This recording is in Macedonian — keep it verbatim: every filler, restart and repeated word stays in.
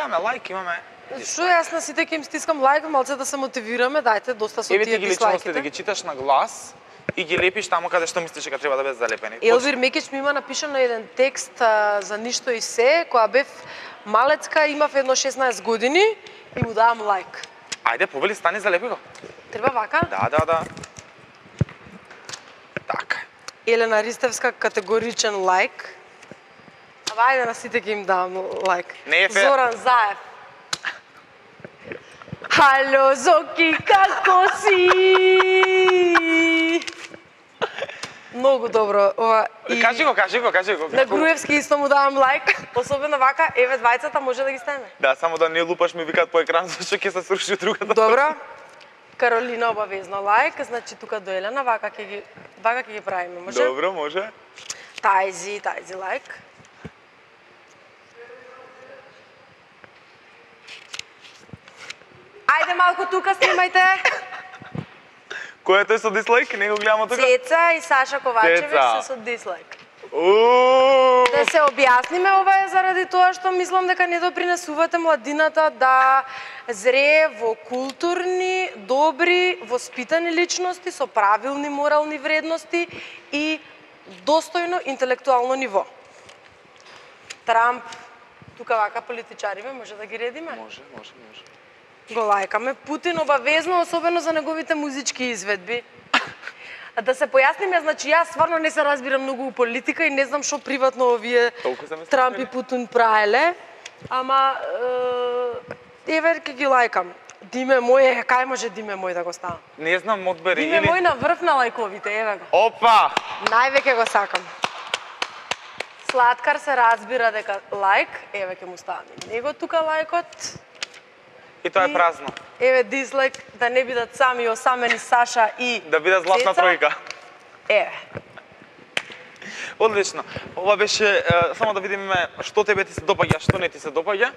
имаме лайк, имаме... Што јас на сите ќе им стискам лайк, малце да се мотивираме, дајте доста со Еве тие ти ги личности да дислайките. ги читаш на глас и ги лепиш таму каде што мислиш дека треба да бидат залепени. Елвир Мекич ми има напишано еден текст а, за ништо и се, која бев малецка, имав едно шеснаесет години и му давам лайк. Ајде, повели, стани, залепи го. Треба вака? Да, да, да. Така. Елена Ристевска, категоричен лайк. Ава, ајде на сите ќе им давам лайк. Не е фер. Зоран Заев. Хало, Зоки, како си? Многу добро. Ова и Кажи го, кажи го, кажи го. на Груевски исто му давам лайк. Особено вака, еве двајцата може да ги ставиме. Да, само да не лупаш ми викаат по екран зашто ќе се сруши другата. Добро. Каролина обавезно лайк, значи тука до Елена, вака ќе ги вака ќе ги правиме, може? Добро, може. Тајзи, тајзи лайк. Ајде малку тука снимајте. Кој е тој со дислайк? Не го гледам тука. Цеца и Саша Ковачевиќ Цеца. се со дислайк. Уу! Да се објасниме, ова е заради тоа што мислам дека не допринесувате младината да зрее во културни, добри, воспитани личности со правилни морални вредности и достојно интелектуално ниво. Трамп, тука вака политичариме, може да ги редиме? Може, може, може. Го лајкаме. Путин обавезно, особено за неговите музички изведби. Да се појасниме, значи јас стварно не се разбирам многу у политика и не знам што приватно овие Толку се ме Трамп и снабили. Путин праеле, ама е, еве ќе ги лајкам. Диме мој, е, кај може Диме мој да го ставам? Не знам, одбери Диме или... мој на врв на лајковите, еве го. Опа! Највеќе го сакам. Сладкар се разбира дека лајк, еве ќе му ставам и него тука лајкот. И тоа е И- празно. Еве дислайк, да не бидат сами осамени Саша и Да биде златна Цеца. тројка. Еве. Одлично. Ова беше, е, само да видиме што тебе ти се допаѓа, што не ти се допаѓа.